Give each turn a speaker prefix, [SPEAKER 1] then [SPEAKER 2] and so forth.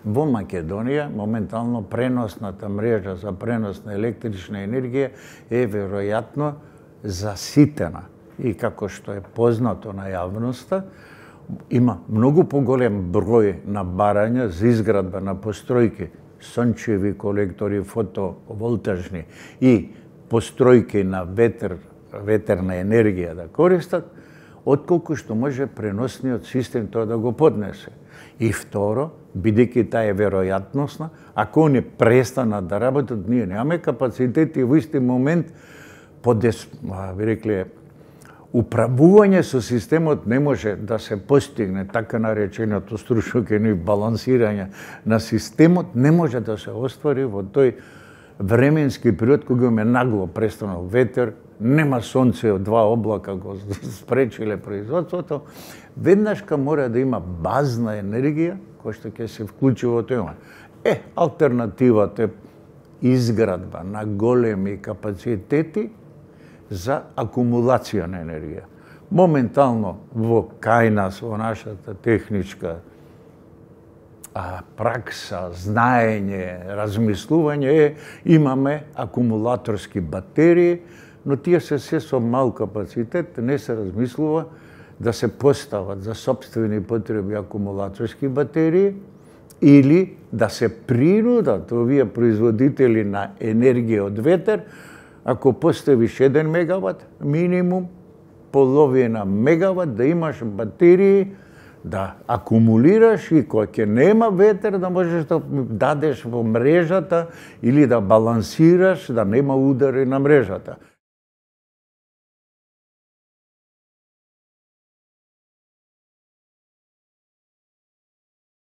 [SPEAKER 1] Во Македонија моментално преносната мрежа за пренос на електрична енергија е веројатно заситена. И како што е познато на јавноста, има многу поголем број на барања за изградба на постројки, сончеви колектори, фотоволтажни и постројки на ветерна енергија да користат, отколку што може преносниот систем тоа да го поднесе. И второ, бидејќи таа е веројатносна, ако они престанат да работат, ние немаме капацитети во исти момент би рекле, управување со системот не може да се постигне, така нареченото стручно балансирање на системот не може да се оствари во тој временски период кога имаме нагло престанал ветер, нема сонце, два облака го спречиле производството, веднашка мора да има базна енергија која што ќе се вклучи во тоа. Алтернативата е изградба на големи капацитети за акумулација на енергија. Моментално кај нас, во нашата техничка пракса, знаење, размислување имаме акумулаторски батерии, но тие се со мал капацитет, не се размислува да се постават за сопствени потреби акумулаторски батерии или да се принудат овие производители на енергија од ветер, ако поставиш 1 мегават, минимум половина мегават да имаш батерии, да акумулираш и кога ќе нема ветер да можеш да дадеш во мрежата или да балансираш, да нема удари на мрежата.